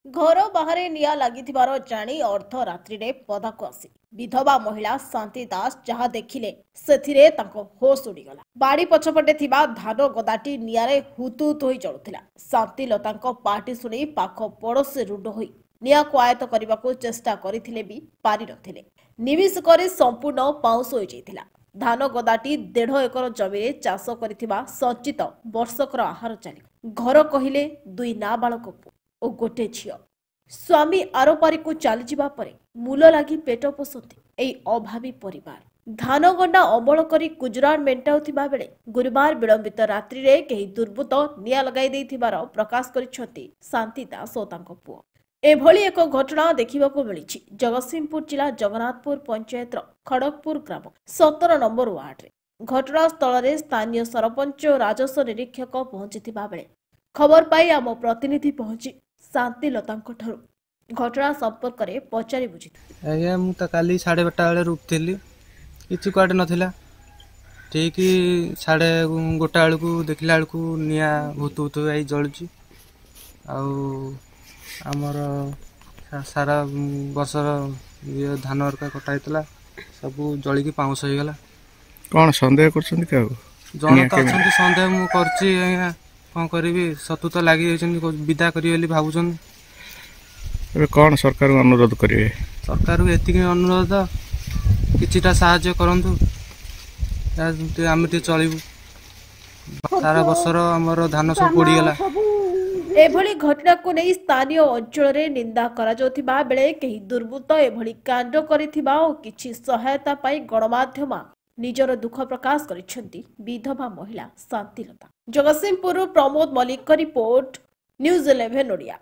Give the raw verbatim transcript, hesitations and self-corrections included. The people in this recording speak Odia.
ଘର ବାହାରେ ନିଆଁ ଲାଗିଥିବାର ଜାଣି ଅର୍ଦ୍ଧରାତ୍ରିରେ ପଦାକୁ ଆସି ବିଧବା ମହିଳା ଶାନ୍ତି ଦାସ ଯାହା ଦେଖିଲେ ସେଥିରେ ତାଙ୍କ ହୋସ୍ ଉଡ଼ିଗଲା। ବାଡ଼ି ପଛପଟେ ଥିବା ଧାନ ଗଦାଟି ନିଆଁରେ ହୁତୁ ହୁତୁ ହୋଇ ଜଳୁଥିଲା। ଶାନ୍ତିଲତାଙ୍କ ପାଟି ଶୁଣି ପାଖ ପଡ଼ୋଶୀ ରୁଣ୍ଡ ହୋଇ ନିଆଁକୁ ଆୟତ୍ତ କରିବାକୁ ଚେଷ୍ଟା କରିଥିଲେ ବି ପାରିନଥିଲେ। ନିମିଷକରେ ସମ୍ପୂର୍ଣ୍ଣ ପାଉଁଶ ହୋଇଯାଇଥିଲା। ଧାନ ଗଦାଟି ଦେଢ଼ ଏକର ଜମିରେ ଚାଷ କରିଥିବା ସଞ୍ଚିତ ବର୍ଷକର ଆହାର ଚାଲି। ଘର କହିଲେ ଦୁଇ ନାବାଳକ ପୁଅ ଓ ଗୋଟେ ଝିଅ। ସ୍ୱାମୀ ଆରପାରିକୁ ଚାଲିଯିବା ପରେ ମୂଲ ଲାଗି ପେଟ ପୋଷନ୍ତି ଏହି ଅଭାବୀ ପରିବାର। ଧାନ ଗଣ୍ଡା ଅମଳ କରି ଗୁଜୁରାଣ ମେଣ୍ଟାଉଥିବା ବେଳେ ଗୁରୁବାର ବିଳମ୍ବିତ ରାତ୍ରିରେ କେହି ଦୁର୍ବୃତ୍ତ ନିଆଁ ଲଗାଇ ଦେଇଥିବାର ପ୍ରକାଶ କରିଛନ୍ତି ଶାନ୍ତି ଦାସ ଓ ତାଙ୍କ ପୁଅ। ଏଭଳି ଏକ ଘଟଣା ଦେଖିବାକୁ ମିଳିଛି ଜଗତସିଂହପୁର ଜିଲ୍ଲା ଜଗନ୍ନାଥପୁର ପଞ୍ଚାୟତର ଖଡ଼ଗପୁର ଗ୍ରାମ ସତର ନମ୍ବର ୱାର୍ଡରେ। ଘଟଣାସ୍ଥଳରେ ସ୍ଥାନୀୟ ସରପଞ୍ଚ ଓ ରାଜସ୍ୱ ନିରୀକ୍ଷକ ପହଞ୍ଚିଥିବା ବେଳେ ଖବର ପାଇ ଆମ ପ୍ରତିନିଧି ପହଞ୍ଚି ଶାନ୍ତିଲତାଙ୍କ ଠାରୁ ଘଟଣା ସମ୍ପର୍କରେ ପଚାରି ବୁଝିଥିଲେ। ଆଜ୍ଞା, ମୁଁ ତ କାଲି ସାଢ଼େ ବାରଟା ବେଳେ ରୁପିଥିଲି, କିଛି କୁଆଡ଼େ ନଥିଲା। ଠିକ୍ ସାଢ଼େ ଗୋଟା ବେଳକୁ ଦେଖିଲା ବେଳକୁ ନିଆଁ ଭୁତୁ ଭୁତୁ ହେଇ ଜଳୁଛି। ଆଉ ଆମର ସାରା ବର୍ଷର ଇଏ ଧାନ ହରିକା କଟା ହେଇଥିଲା, ସବୁ ଜଳିକି ପାଉଁଶ ହେଇଗଲା। କ'ଣ ସନ୍ଦେହ କରୁଛନ୍ତି କାହାକୁ? ଜଣେ ତ ଅଛନ୍ତି, ସନ୍ଦେହ ମୁଁ କରୁଛି ଆଜ୍ଞା। କ'ଣ କରିବି, ସତୁ ତ ଲାଗି ଯାଇଛନ୍ତି, ବିଦା କରିବେ ବୋଲି ଭାବୁଛନ୍ତି। ଏବେ କ'ଣ ସରକାରଙ୍କୁ ଅନୁରୋଧ କରିବେ? ସରକାରକୁ ଏତିକି ଅନୁରୋଧ, କିଛିଟା ସାହାଯ୍ୟ କରନ୍ତୁ, ଆମେ ଟିକେ ଚଳିବୁ। ସାରା ବର୍ଷର ଆମର ଧାନ ସବୁ ପୋଡ଼ିଗଲା। ଏଭଳି ଘଟଣାକୁ ନେଇ ସ୍ଥାନୀୟ ଅଞ୍ଚଳରେ ନିନ୍ଦା କରାଯାଉଥିବା ବେଳେ କେହି ଦୁର୍ବୃତ୍ତ ଏଭଳି କାଣ୍ଡ କରିଥିବା ଓ କିଛି ସହାୟତା ପାଇଁ ଗଣମାଧ୍ୟମ ନିଜର ଦୁଃଖ ପ୍ରକାଶ କରିଛନ୍ତି ବିଧବା ମହିଳା ଶାନ୍ତିଲତା। ଜଗତସିଂହପୁରରୁ ପ୍ରମୋଦ ମଲ୍ଲିକଙ୍କ ରିପୋର୍ଟ, ନ୍ୟୁଜ୍ ଇଲେଭେନ୍ ଓଡ଼ିଆ।